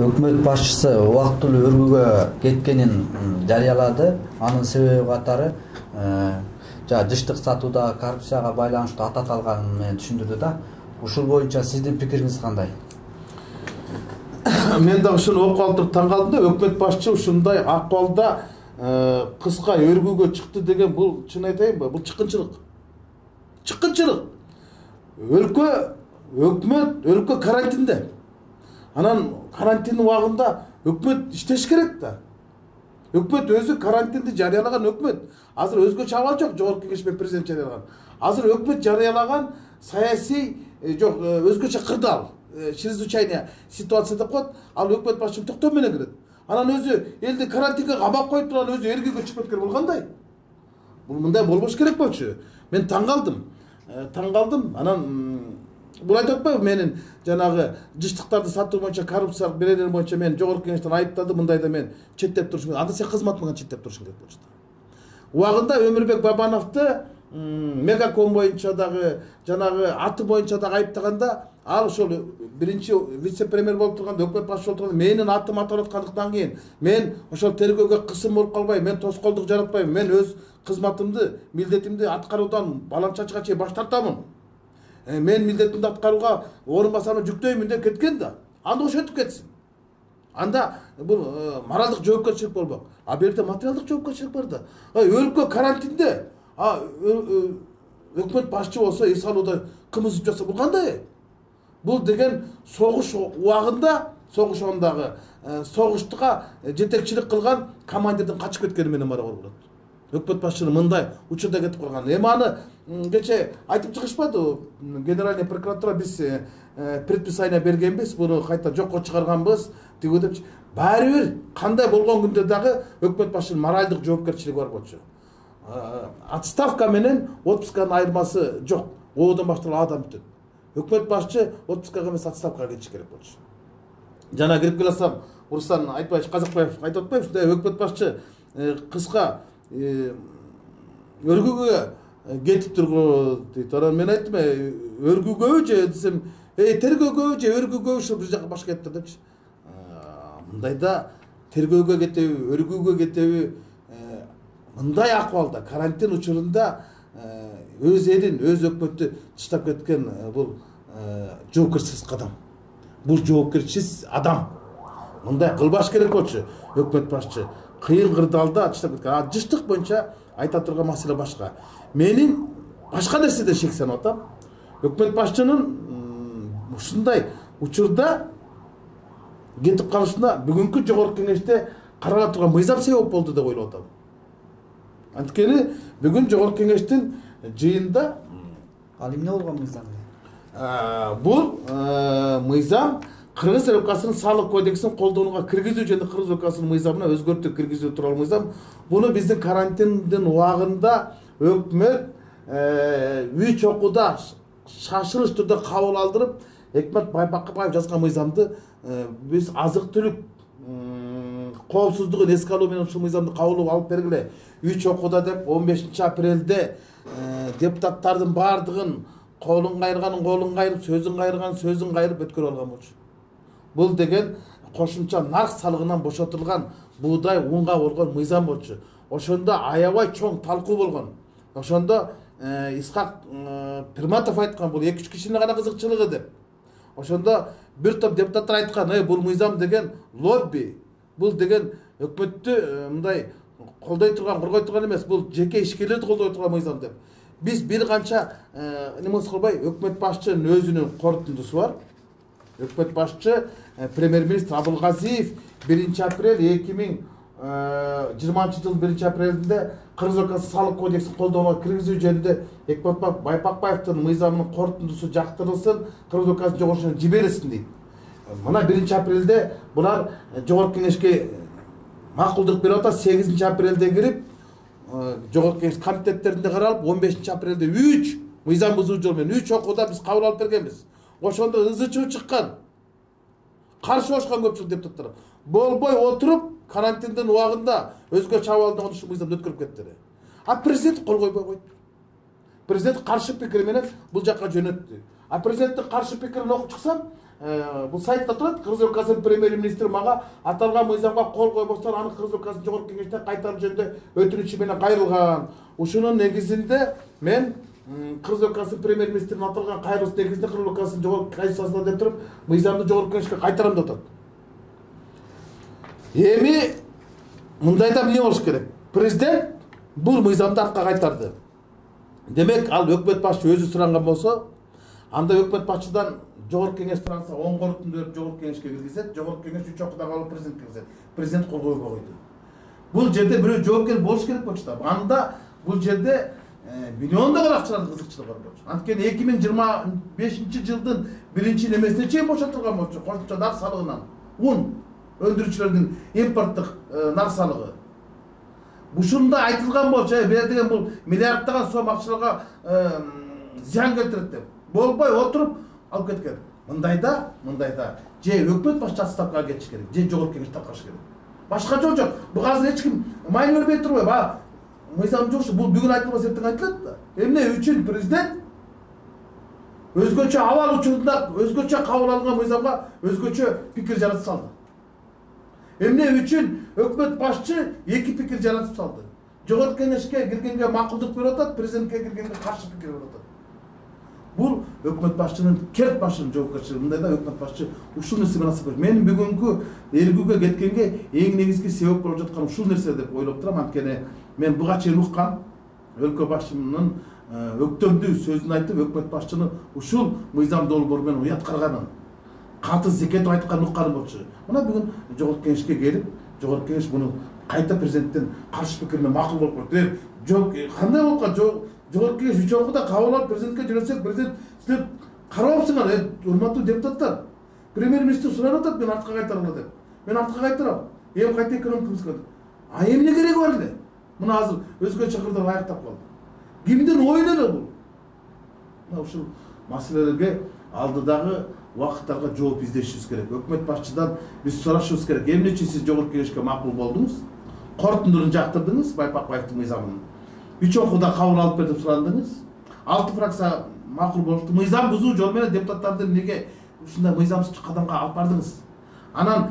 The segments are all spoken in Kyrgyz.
Өкмөт башчысы убактылуу өргүүгө кеткенин жарыялады. Анын себеби катары жыштык сатуудагы коррупцияга байланыштуу ат аталганын мен түшүндүрдү да. Ушул боюнча сиздин пикириңиз кандай? Мен дагы ушуну окуп алып туруп таң калдым да. Өкмөт башчы ушундай акыбалда кыска өргүүгө чыкты деген бул чын айтайынбы? Бул чыккынчылык. Чыккынчылык. Өлкө карантинде. Анан карантин убагында өкмөт иштеш керек да. Өкмөт өзү карантинди жарыялаган өкмөт. Азыр өзгөчө абал жок, жогорку кеңеш менен президент жарыялаган. Азыр өкмөт жарыялаган саясий жок, өзгөчө кырдаал, чрезвычайная ситуация деп коет. Ал өкмөт башчысы токтоо менен кирет. Анан өзү элди карантинге кабап коюп турган өзү эргүүгө чыгып кеткен бул кандай? Бул мындай болбош керек болчу. Мен таң калдым. Анан бул айтып атпайбы, менин жанагы жыштыктарды сатуу боюнча коррупциялык берелер боюнча мен жогорку кеңештен айыптады, мындайда мен четтеп турушум. Анда сен кызматыңан четтеп турушуң керек болчу. Убагында Өмүрбек Бабановду Мегаком боюнча дагы жанагы аты боюнча дагы айыптаганда, ал ошол биринчи вице-премьер болуп турганда, өкмөт башчысы болуп турганда менин атым аталып аткандыктан кийин мен ошол тергөөгө кысым болуп калбайм, мен тоскоолдук жаратпайм, мен өз кызматымды, милдетимди аткаруудан балам чачыга чейин баш тартамын. Мен милдетимди аткарууга орун басарыма жүктөймүн деп кеткен да. Анда ошентип кетсин. Анда бул моралдык жоопкерчилик болмок. А бул жерде материалдык жоопкерчилик бар да. Өлкө карантинде. Өкмөт башчы болсо эс алууда кымыз ичип жатса бул кандай? Бул деген согуш убагында, согуш ондагы согуштуга жетекчилик кылган командирдин качып кеткени менен барабар болот. Өкмөт башчынын мындай учурда кетип калган. Эми аны кече айтып чыгышпадыбы? Генеральный прокуратура биз предписание бергенбиз, буну кайта жокко чыгарганбыз, тиги деп. Баары бир кандай болгон күндө дагы өкмөт башчынын моралдык жоопкерчилиги бар болчу. Отставка менен отпусканын айырмасы жок. Оодон башталып адам бүтөт. Өкмөт башчы отпускага эмес отставкага кетиш керек болчу. Жана кирип келсем, Руслан Айтбаевич Казакбаев айтып атпайбы, ушундай өкмөт башчы кыска өргүүгө кетип тургу дейт. Анан мен айттым, өргүүгөбү же десем, тергөөгөбү же өргүүгөбү, ушул бир жака башка кетти депчи. Мындайда тергөөгө кетеби, өргүүгө кетеби, мындай акыбалда карантин учурунда өз элин, өз өкмөттү таштап кеткен бул жоопкерсиз кадам. Бул жоопкерсиз адам. Мындай кылбаш керек болчу өкмөт башчы. Кыйын кырдаалда таштап кеткен. Жыштык боюнча айта турган маселе башка. Менин башка нерседе шексенип атам. Өкмөт башчынын ушундай учурда кетип калышына бүгүнкү жогорку кеңеште карала турган мыйзам себеп болду деп ойлоп атам. Анткени бүгүн жогорку кеңештин жыйында ал эмне болгон мыйзам? Бул мыйзам Кыргыз Республикасынын салык кодексин колдонууга киргизүү жана Кыргыз Республикасынын мыйзамына өзгөртүү киргизүү тууралуу мыйзам. Буну биздин карантиндин убагында өкмөт 3 окууда шашылыш түрдө кабыл алдырып, Экмет Байбакбаев жазган мыйзамды биз азык-түлүк коопсуздугун эске алуу менен ушул мыйзамды кабыл алып бергиле. 3 окууда деп 15 апрелде депутаттардын бардыгын колун кайырганын колун кайрып, сөзүн кайырганын сөзүн кайрып өткөрүп алган болчу. Бул деген кошумча нарк салыгынан бошотулган буудай унга болгон мыйзам болчу. Ошондо аябай чоң талкуу болгон. Ошондо Исхак Пирматов айткан, бул 2-3 кишинин гана кызыкчылыгы деп. Ошондо бир топ депутаттар айткан, бул мыйзам деген лобби. Бул деген өкмөттү мындай колдой турган, коргой турган эмес, бул жеке ишкерлерди колдой турган мыйзам деп. Биз бир канча немес кылбай, өкмөт башчынын өзүнүн корутундусу бар. Өкмөт башчы премьер-министр Абылгазиев 1 апрель 2020 жыл 1 апрелинде Кыргыз Республикасы салык кодексин колдонууга киргизүү жөнүндө Экмет Байбакбаевдин мыйзамынын корутундусу жактырылсын, Кыргыз Республикасынын жогорку жиберилсин дейт. Мына 1 апрелде булар жогорку кеңешке макулдук берип атат. 8 апрелде кирип жогорку кеңеш комитеттеринде каралып, 15 апрелде 3 мыйзам бузуу жол менен 3 окууда биз кабыл алып бергенбиз. Ошондо ызы-чуу чыккан. Каршы болушкан көпчүлүк депутаттар болбой отуруп, карантиндин убагында өзгөчө абалда ушул мыйзамды өткөрүп кетти. А президент кол койбой койду. Президент каршы пикир менен бул жакка жөнөттү. А президенттин каршы пикирин окуп чыксам, бул сайтта турат. Кыргыз Республикасынын премьер-министри мага аталган мыйзамга кол койбостон аны Кыргыз Республикасынын жогорку кеңештен кайтаруу жөнүндө өтүнүчү менен кайрылган. Ушунун негизинде мен Кыргыз Республикасынын премьер-министринин аталган кайрылыш негизинде Кыргыз Республикасынын жогорку конституциясына деп туруп мыйзамды жогорку кеңешке кайтарам деп атат. Эми мындайда эмне болуш керек? Президент бул мыйзамды артка кайтарды. Демек ал өкмөт башчы өзү суранган болсо, анда өкмөт башчыдан жогорку кеңеш суранса, оң корутунду берип жогорку кеңешке киргизет, жогорку кеңеш 3 окуудан калып президентке киргизет. Президент кол койбой койду. Бул жерде бирөө жоопкер болуш керек болчу да. Анда бул жерде миллиондогон акчалардын кызыкчылыгы бар болчу. Анткени 2025-жылдын 1-немесине чейин бошотулган болчу. Кошумча нар салыгынан. Un өндүрүүчүлөрдүн импорттук нар салыгы. Ушунда айтылган болчу, бер деген бул миллиарддаган сом акчаларга зыян келтирет деп. Болбой отуруп алып кеткен. Мындайда же өкмөт башчысы отставкага кетиш керек, же жогорку кеңеш таркаш керек. Башка жол жок. Бул азыр эч ким майн бербей турбайбы? Мыйзам жокчу, бул бүгүн айтылбаса эртең айтылат да. Эмне үчүн президент өзгөчө абал учурунда өзгөчө кабыл алынган мыйзамга өзгөчө пикир жаратып салды? Эмне үчүн өкмөт башчы эки пикир жаратып салды? Жогорку кеңешке киргенге макулдук берип атат, президентке киргенге каршы пикир берип атат. Бул өкмөт башчынын керт башынын жоопкерчилиги. Мындайда өкмөт башчы ушул нерсе менен асып. Мен бүгүнкү элгүүгө кеткенге эң негизги себеп болуп жаткан ушул нерсе деп ойлоп турам. Анткени мен буга чейин уккам, өлкө башчынын өктөмдүү сөзүн айтып, өкмөт башчыны ушул мыйзам долбоору менен уят карганын, каты зекет айтканын укканым болчу. Мына бүгүн жогорку кеңешке келип, жогорку кеңеш муну кайта президенттен каршы пикир менен макул болуп койду. Жок, кандай болуп калды? Жогорку кеңеш 3 окууда кабыл алып президентке жөнөтсөк, президент силер карабапсыңар, урматтуу депутаттар. Премьер-министр сурап атат, мен артка кайтаргыла деп. Мен артка кайтарам. Эми кайта экономикабызга. А эмне кереги бар эле? Мына азыр өзгө чакырдырып аяктап калды. Кимдин ою эле бул? Мына ушул маселелерге алдыдагы убакыттарга жооп издешибиз керек. Өкмөт башчыдан биз сурашыбыз керек. Эмне үчүн сиз жогорку кеңешке макул болдуңуз? Корутундуруун жактырдыңыз, Байпакбаевдин мыйзамын. 3 окууда кабыл алып бер деп сурандыңыз. 6 фракция макул болушту. Мыйзам бузуу жол менен депутаттарды эмнеге ушундай мыйзамсыз кадамга алып бардыңыз? Анан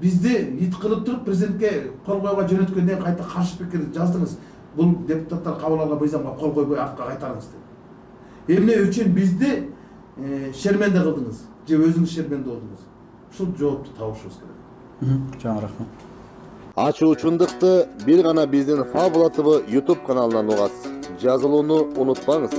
бизди ит кылып туруп президентке кол койууга жөнөткөндөн кайта каршы пикир жаздыңыз. Бул депутаттар кабыл алган мыйзамга кол койбой артка кайтарыңыз деп. Эмне үчүн бизди шерменде кылдыңыз? Же өзүңүз шерменде болдуңуз? Ушул жоопту табышыбыз керек. Чоң рахмат. Ачуучундукты бир гана биздин Фабула ТВ YouTube каналынан угасыз. Жазылууну унутпаңыз.